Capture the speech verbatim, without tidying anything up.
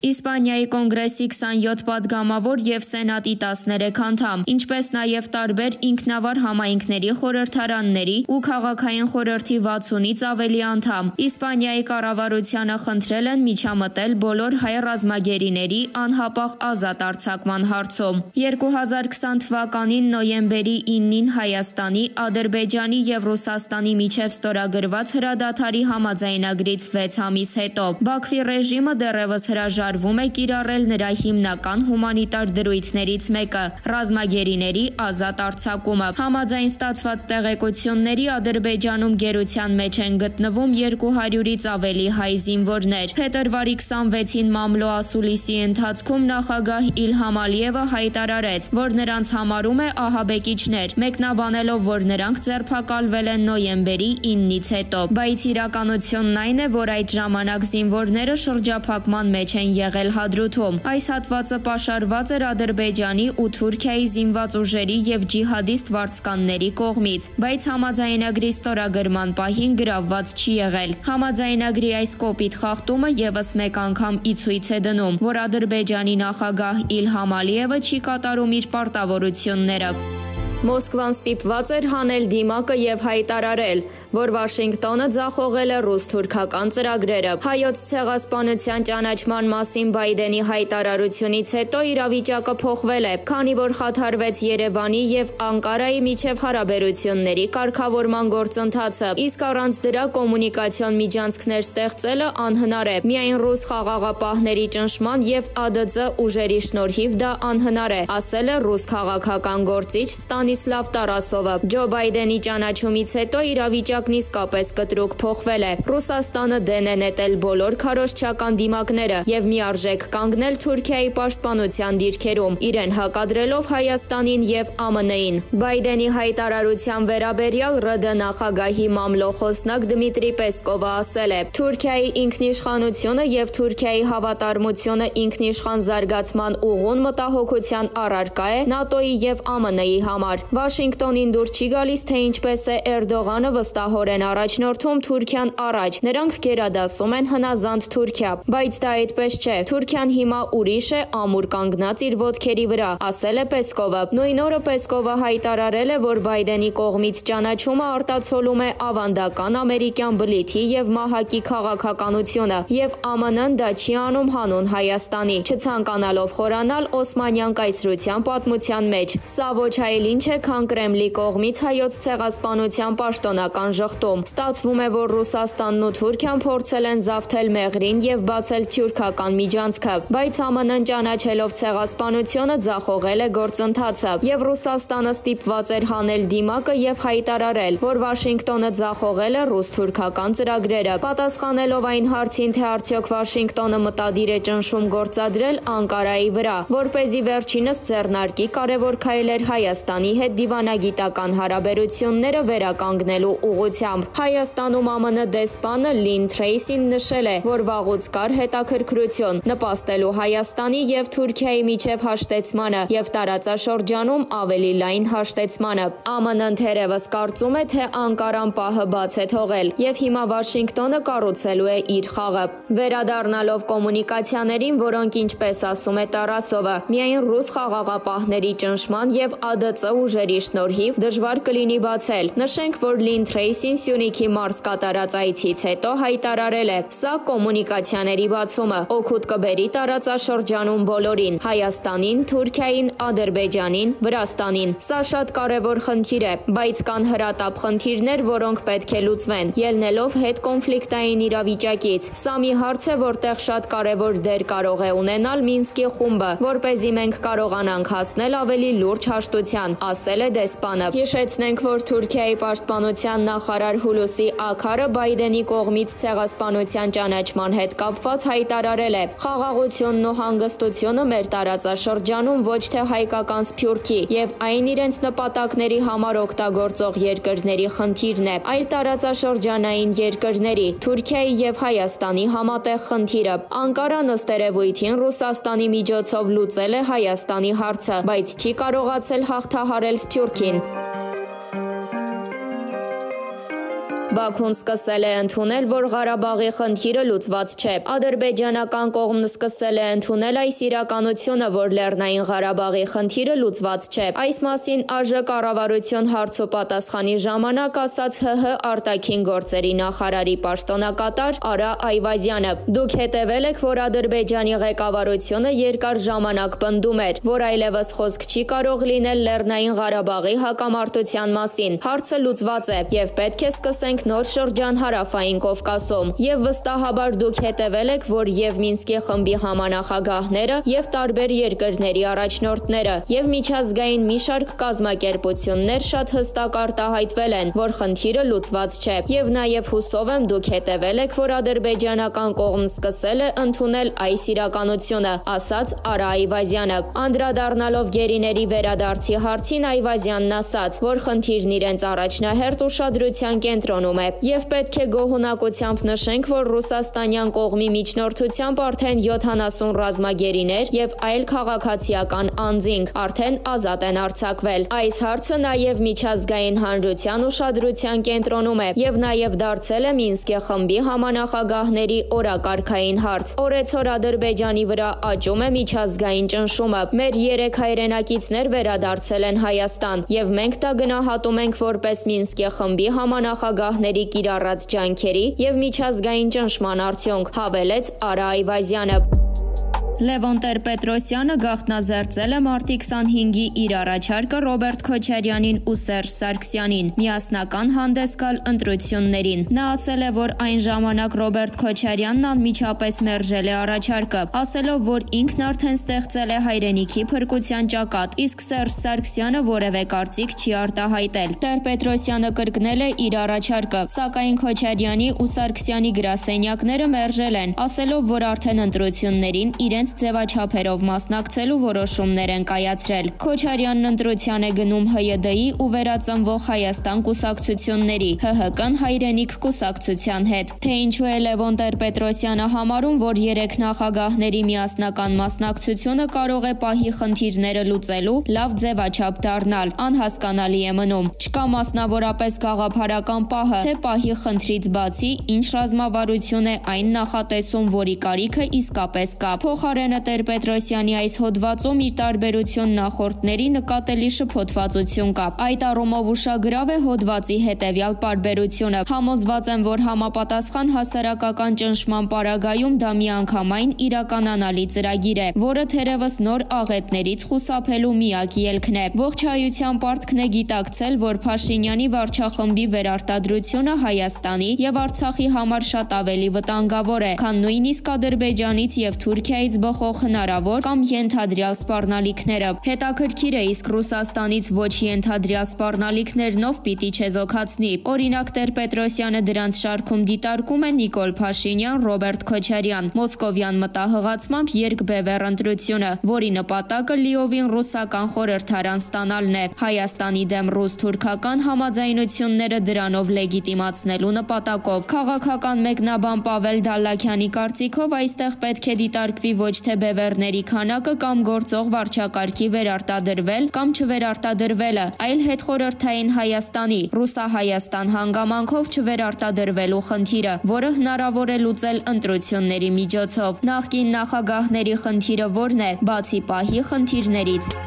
Իսպանիայի կոնգրեսի քսանյոթ պատգամավոր և սենատի տասներեք անդամ, ինչպես նաև տարբեր ինքնավար համայնքների խորհրդարանների ու քաղաքային խորհրդի վաթսունից ավելի անդամ Իսպանիայի կառավարությանը խնդրել են միջամտել բոլոր հայ ռազմագերիների անհապաղ ազատ արձակման հարցում։ երկու հազար քսան թվականին նոյեմբերի իննին Հայաստանի, Ադրբեջանի և Ռուսաստանի միջև ստորագրված հրադադարի համաձայնագրից վեց ամիս հետո Բաքվի ռեժիմը դեռևս հրաժարվում է կիրառել նրա հիմնական հումանիտար դրույթներից մեկը՝ ռազմագերիների ազատ արձակումը։ Համաձայն ստացված տեղեկությունների Ադրբեջանում գերության մեջ են գտնվում երկու հարյուրից ավելի հայ զինվորներ։ Փետրվարի քսանվեցին Մամլո ասուլիսի ընթացքում նախագահ Իլհամ Ալիևը հայտարարեց, որ նրանց համարում է ահաբեկիչներ, մեկնաբանելով, որ նրանք ձերբակալվել են նոյեմբերի իննից հետո։ Բայց իրականությունն այն է, որ այդ ժամանակ զինվորները շրջափակման մեջ են եղել Հադրութում։ Այս հատվածը պաշարված էր Ադրբեջանի ու Թուրքիայի զինված ուժերի և ջիհադիստ վարձկանների կողմից, բայց համաձայնագրի ստորագրման պահին գրավված չի եղել։ Համաձայնագրի այս կոպիտ խախտումը ևս մեկ անգամ ի ցույց է դնում, որ Ադրբեջանի նախագահ Իլհամ Ալիևը չի կատարում իր պարտավորությունները։ Մոսկվան ստիպված էր հանել դիմակը և հայտարարել, որ Վաշինգտոնը ձախողել է ռուս-թուրքական ծրագրերը։ Հայոց ցեղասպանության ճանաչման մասին Բայդենի հայտարարությունից հետո իրավիճակը փոխվել է, քանի որ խաթարվեց Երևանի և Անկարայի միջև հարաբերությունների կարգավորման գործընթացը, իսկ առանց դրա կոմունիկացիոն միջանցքներ ստեղծելը անհնար է։ Միայն ռուս խաղաղապահների ճնշման և ԱԴԾ ուժերի շնորհիվ դա անհնար է, ասել է ռուս քաղաքական գործիչ Ստանիսլավ Տարասովը։ Ջո Բայդենի ճանաչումից հետո իրավիճակն իսկապես կտրուկ փոխվել է։ Ռուսաստանը դեն է նետել բոլոր քարոզչական դիմակները և միարժեք կանգնել Թուրքիայի պաշտպանության դիրքերում, իրեն հակադրելով Հայաստանին և ԱՄՆ-ին։ Բայդենի հայտարարության վերաբերյալ ՌԴ նախագահի մամլո խոսնակ Դմիտրի Պեսկովը ասել է. Թուրքիայի ինքնիշխանությունը և Թուրքիայի հավատարմությունը ինքնիշխան զարգացման ուղուն մտահոգության առարկա է ՆԱՏՕ-ի և ԱՄՆ-ի համար։ Վաշինգտոնին դուր չի գալիս, թե ինչպես է Էրդողանը վստահորեն առաջնորդում Թուրքիան առաջ։ Նրանք գերադասում են հնազանդ Թուրքիա, բայց դա այդպես չէ։ Թուրքիան հիմա ուրիշ է, ամուր կանգնած իր ոտքերի վրա, ասել է Պեսկովը։ Նույն օրը Պեսկովը հայտարարել է, որ Բայդենի կողմից ճանաչումը արտացոլում է ավանդական ամերիկյան բլիթի և մահակի քաղաքականությունը, և ԱՄՆ-ն դա չի անում հանուն Հայաստանի, չցանկանալով խորանալ օսմանյան կայսրության պատմության մեջ։ Սա ոչ այլ ինչ է, քան Կրեմլի կողմից հայոց ցեղասպանության պաշտոնական ժխտում։ Ստացվում է, որ Ռուսաստանն ու Թուրքիան փորձել են զավթել Մեղրին և բացել թյուրքական միջանցքը, բայց ԱՄՆ-ն ճանաչելով ցեղասպանությունը ձախողել է գործընթացը, և Ռուսաստանը ստիպված էր հանել դիմակը և հայտարարել, որ Վաշինգտոնը ձախողել է ռուս-թուրքական ծրագրերը։ Պատասխանելով այն հարցին, թե արդյոք Վաշինգտոնը մտադիր է ճնշում գործադրել Անկարայի վրա, որպեսզի վերջինս ձեռնարկի կարևոր քայլեր Հայաստանի հետ դիվանագիտական հարաբերությունները վերականգնելու ուղղությամբ։ Հայաստանում ԱՄՆ դեսպանը Լին Թրեյսին նշել է, որ վաղուց կար հետաքրքրություն նպաստելու Հայաստանի և Թուրքիայի միջև հաշտեցմանը և տարածաշրջանում ավելի լայն հաշտեցմանը։ ԱՄՆ-ն թերևս կարծում է, թե Անկարան պահը բաց է թողել, և հիմա Վաշինգտոնը կառուցելու է իր խաղը։ Վերադառնալով կոմունիկացիաներին, որոնք, ինչպես ասում է Տարասովը, միայն ռուս խաղաղապահների ճնշման և ԱԴԾ ուժերի շնորհիվ դժվար կլինի բացել։ Նշենք, որ Լին Թրեյսին Սյունիքի մարզ կատարած այցից հետո հայտարարել է. Սա կոմունիկացիաների բացումը օգուտ կբերի տարածաշրջանում բոլորին՝ Հայաստանին, Թուրքիային, Ադրբեջանին, Վրաստանին։ Սա շատ կարևոր խնդիր է, բայց կան հրատապ խնդիրներ, որոնք պետք է լուծվեն, ելնելով հետկոնֆլիկտային իրավիճակից։ Սա մի հարց է, որտեղ շատ կարևոր դեր կարող է ունենալ Մինսկի խումբը, որպեսզի մենք կարողանանք հասնել ավելի լուրջ հաշտության, ասել է դեսպանը։ Հիշեցնենք, որ Թուրքիայի պաշտպանության նախարար Հուլուսի Աքարը Բայդենի կողմից ցեղասպանության ճանաչման հետ կապված հայտարարել է. Խաղաղությունն ու հանգստությունը մեր տարածաշրջանում ոչ թե հայկական սփյուռքի և այն իրենց նպատակների համար օգտագործող երկրների խնդիրն է, այլ տարածաշրջանային երկրների՝ Թուրքիայի և Հայաստանի համատեղ խնդիրը։ Անկարան ըստ երևույթին Ռուսաստանի միջոցով լուծել է Հայաստանի հարցը, բայց չի կարողացել հաղթահարել Սփյուռքին։ Բաքուն սկսել է ընդունել, որ Ղարաբաղի խնդիրը լուծված չէ։ Ադրբեջանական կողմն սկսել է ընդունել այս իրականությունը, որ Լեռնային Ղարաբաղի խնդիրը լուծված չէ։ Այս մասին ԱԺ կառավարություն հարց ու պատասխանի ժամանակ ասաց ՀՀ արտաքին գործերի նախարարի պաշտոնակատար Արա Այվազյանը։ Դուք հետևել եք, որ Ադրբեջանի ղեկավարությունը երկար ժամանակ պնդում էր, որ այլևս խոսք չի կարող լինել Լեռնային Ղարաբաղի հակամարտության մասին։ Հարցը լուծված է եւ պետք է սկսենք նոր շրջան Հարավային Կովկասում։ Եվ վստահաբար դուք հետևել եք, որ եւ Մինսկի խմբի համանախագահները, եւ տարբեր երկրների առաջնորդները, եւ միջազգային մի շարք կազմակերպություններ շատ հստակ արտահայտվել են, որ խնդիրը լուծված չէ։ Եվ նաեւ հուսով եմ դուք հետևել եք, որ ադրբեջանական կողմն սկսել է ընդունել այս իրականությունը, ասաց Արա Այվազյանը։ Անդրադառնալով գերիների վերադարձի հարցին Այվազյանն ասաց, որ խնդիրն իրենց առաջնահերթ ուշադրության կենտրոնում է, եւ պետք է գոհունակությամբ նշենք, որ ռուսաստանյան կողմի միջնորդությամբ արդեն յոթանասուն ռազմագերիներ եւ այլ քաղաքացիական անձինք արդեն ազատ են արձակվել։ Այս հարցը նաեւ միջազգային հանրության ուշադրության կենտրոնում է եւ նաեւ դարձել է Մինսկի խմբի համանախագահների օրակարգային հարց։ Օրեցօր Ադրբեջանի վրա աճում է միջազգային ճնշումը։ Մեր երեք հայրենակիցներ վերադարձել են Հայաստան եւ մենք դա գնահատում ենք որպես Մինսկի խմբի համանախագահների կիրառած ջանքերի եւ միջազգային ճնշման արդյունք, հավելեց Արա Այվազյանը։ Լևոն Տեր-Պետրոսյանը գաղտնազերծել է մարտի քսանհինգի իր առաջարկը Ռոբերտ Քոչարյանին ու Սերժ Սարգսյանին միասնական հանդես գալ ընտրություններին։ Նա ասել է, որ այն ժամանակ Ռոբերտ Քոչարյանն անմիջապես մերժել է առաջարկը, ասելով, որ ինքն արդեն ստեղծել է հայրենիքի փրկության ճակատ, իսկ Սերժ Սարգսյանը որևէ կարծիք չի արտահայտել։ Տեր-Պետրոսյանը կրկնել է իր առաջարկը, սակայն Քոչարյանի ու Սարգսյանի գրասենյակները մերժել են, ասելով, որ արդեն ընտրություններին իրենց ձևաչափերով մասնակցելու որոշումներ են կայացրել։ Քոչարյանն ընտրության է գնում ՀՅԴ-ի ու Վերածնվող Հայաստան կուսակցությունների, ՀՀԿ-ն հայրենիք կուսակցության հետ։ Թե ինչու է Լևոն Տեր-Պետրոսյանը համարում, որ երեք նախագահների միասնական մասնակցությունը կարող է պահի խնդիրները լուծելու լավ ձևաչափ դառնալ, անհասկանալի է մնում։ Չկա մասնավորապես գաղափարական պահը, թե պահի խնդրից բացի ինչ ռազմավարություն է այն նախատեսում, որի կարիքը իսկապես կա։ Փոխարենը Տեր-Պետրոսյանի այս հոդվածում իր տարբերություն նախորդների նկատելի շփոթվածություն կա։ Այդ առումով ուշագրավ է հոդվածի հետևյալ պարբերությունը։ Համոզված եմ, որ համապատասխան հասարակական ճնշման պարագայում դա միանգամայն իրականանալի ծրագիր է, որը թերևս նոր աղետներից խուսափելու միակ ելքն է։ Ողջայության պարտքն է գիտակցել, որ Փաշինյանի վարչախմբի վերարտադրությունը Հայաստանի եւ Արցախի համար շատ ավելի վտանգավոր է, քան նույնիսկ Ադրբեջանից եւ Թուրքիայից բխող հնարավոր կամ ենթադրյալ սպառնալիքները։ Հետաքրքիր է, իսկ Ռուսաստանից ոչ ենթադրյալ սպառնալիքներն ով պիտի չեզոքացնի։ Օրինակ Տեր-Պետրոսյանը դրանց շարքում դիտարկում է Նիկոլ Փաշինյան, Ռոբերտ Քոչարյան, մոսկովյան մտահղացմամբ երկբևեռ ընտրությունը, որի նպատակը լիովին ռուսական խորհրդարան ստանալն է։ Հայաստանի դեմ ռուս-թուրքական համաձայնությունները դրանով լեգիտիմացնելու նպատակով։ Քաղաքական մեկնաբան Պավել Դալլաքյանի կարծիքով այստեղ պետք է դիտարկվի ոչ թե բևեռների քանակը կամ գործող վարչակարգի վերարտադրվել կամ չվերարտադրվելը, այլ հետխորհրդային Հայաստանի, ռուսահայաստան հանգամանքով չվերարտադրվելու խնդիրը, որը հնարավոր է լուծել ընտրությունների միջոցով։ Նախկին նախագահների խնդիրը որն է, բացի պահի խնդիրներից։